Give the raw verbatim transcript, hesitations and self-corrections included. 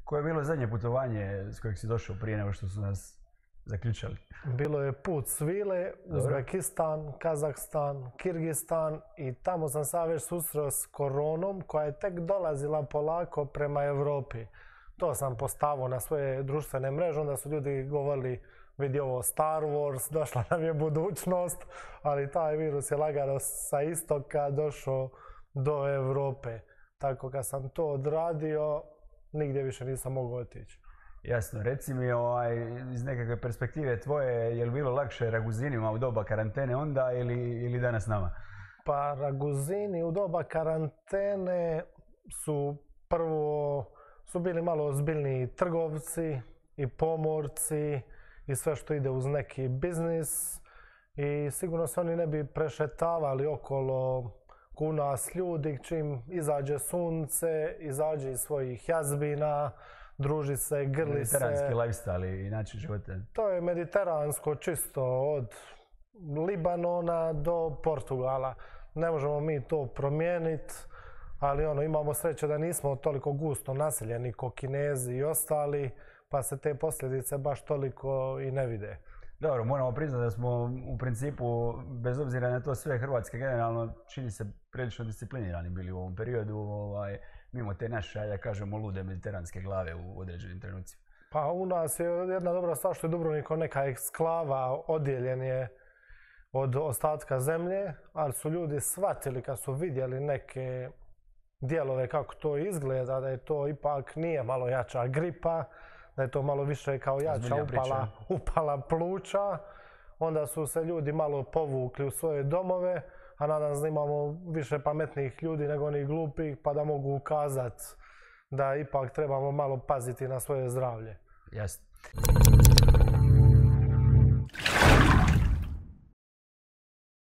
Koje je bilo zadnje putovanje s kojeg si došao prije nego što su nas zaključali? Bilo je put svile, Uzbekistan, Kazahstan, Kirgistan i tamo sam sad već susreo s koronom koja je tek dolazila polako prema Evropi. To sam postavio na svoje društvene mreže, onda su ljudi govorili vidi ovo Star Wars, došla nam je budućnost, ali taj virus je lagano sa istoka došao do Evrope. Tako kad sam to odradio, nigdje više nisam mogao otići. Jasno, reci mi ovaj, iz nekakve perspektive tvoje, je li bilo lakše Raguzinima u doba karantene onda ili, ili danas nama? Pa Raguzini u doba karantene su prvo su bili malo ozbiljniji trgovci i pomorci i sve što ide uz neki biznis i sigurno se oni ne bi prešetavali okolo ku nas ljudi čim izađe sunce, izađe iz svojih jazbina, druži se, grli se. Mediteranski lifestyle i način života. To je mediteransko čisto od Libanona do Portugala. Ne možemo mi to promijeniti, ali ono, imamo sreće da nismo toliko gusto naseljeni ko Kinezi i ostali, pa se te posljedice baš toliko i ne vide. Dobro, moramo priznati da smo u principu, bez obzira na to sve, Hrvatske generalno čini se prilično disciplinirani bili u ovom periodu, ovaj, mimo te naše, da kažemo, lude mediteranske glave u određenim trenucima. Pa u nas je jedna dobra stvar što je Dubrovnik neka eksklava, odjeljen je od ostatka zemlje, ali su ljudi shvatili kad su vidjeli neke dijelove kako to izgleda, da je to ipak nije malo jača gripa, da je to malo više kao jača upala, upala pluća, onda su se ljudi malo povukli u svoje domove, a nadam se da imamo više pametnih ljudi nego onih glupih, pa da mogu ukazati da ipak trebamo malo paziti na svoje zdravlje. Jasno.